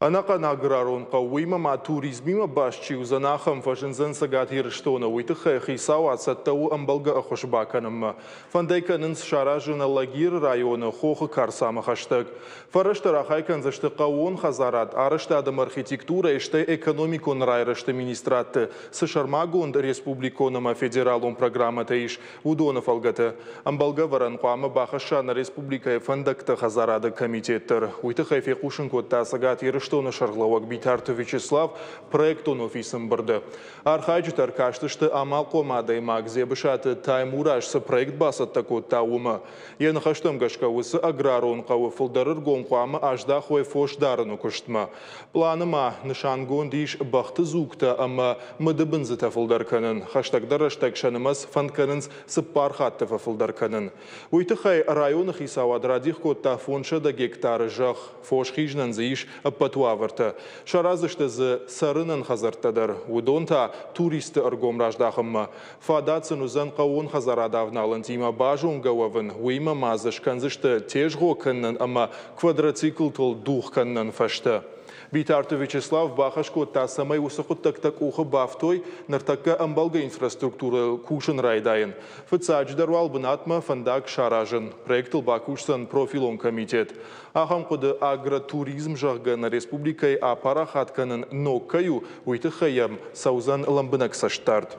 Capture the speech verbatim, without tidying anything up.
Ӕнӕхъӕн аграрон хъӕу, уыимӕ ма туризмимӕ баст чи уыдзӕн, ахӕм фӕзындзӕн Цӕгат Ирыстоны. Уый тыххӕй хицауад цӕттӕ у ӕмбӕлгӕ ӕххуыс бакӕнынмӕ. Фӕнд ӕй кӕнынц саразын Алагиры районы Хохы Карцамӕ хӕстӕг. Фӕрӕзтӕ рахай кӕндзысты хъӕууон хӕдзарад, арӕзтад ӕмӕ архитектурӕйы, стӕй экономикон райрӕзты министрадты цы сӕрмагонд республикон ӕмӕ федералон программӕтӕ ис, уыдоны фӕлгӕты. Ӕмбӕлгӕ ӕвӕрӕн хъуамӕ бахӕсса нӕ республикӕйы фӕндӕгты хӕдзарады комитет дӕр. Уый тыххӕй фехъусын кодта Цӕгат Ирыстоны сӕргълӕууӕг Битарты Вячеслав проектон офисы ӕмбырды. Архайджытӕ ӕркастысты амалхъом адӕймаг Дзебысаты Таймураз цы проект бацӕттӕ кодта, уымӕ. Йӕ ныхӕстӕм гӕсгӕ уыцы аграрон хъӕуы фылдӕр ӕргом хъуамӕ аздахой фосдарыны куыстмӕ. Пъланы ма нысангонд ис бӕхты дзугтӕ ӕмӕ мыдыбындзытӕ фылдӕр кӕнын. Хӕстӕгдӕр рӕстӕг сӕ нымӕц фӕнд кӕнынц цыппар хатты фӕфылдӕр кӕнын. Уый тыххӕй районы хицауад радих кодта фондзсӕдӕ гектары зӕхх. Фос хизынӕн дзы ис ӕппӕт уавӕртӕ. Сараздзысты дзы цӕрынӕн хӕдзӕрттӕ дӕр. Уыдон та туристты ӕргом раздахынмӕ. Фадат сын уыдзӕн хъӕууон хӕдзарады авналӕнтимӕ базонгӕ уӕвын, уыимӕ ма дзы скӕндзысты тезгъо кӕнынӕн ӕмӕ квадроциклтыл дугъ кӕнынӕн фӕзтӕ. Битарты Вячеслав бахӕс кодта, цӕмӕй уыцы хъуыддӕгтӕ къухы бафтой, ныртӕккӕ ӕмбӕлгӕ инфраструктурӕйыл кусын райдайын. Фыццаджыдӕр уал бынатмӕ фӕндаг саразын. Проектыл бакусдзӕн профилон комитет. Ахӕм хъуыды агротуризм, зӕгъгӕ, нӕ республикӕйы апарахат кӕнын ног кӕй у, уый тыххӕй йӕм цӕудзӕн лӕмбынӕг цӕстдард.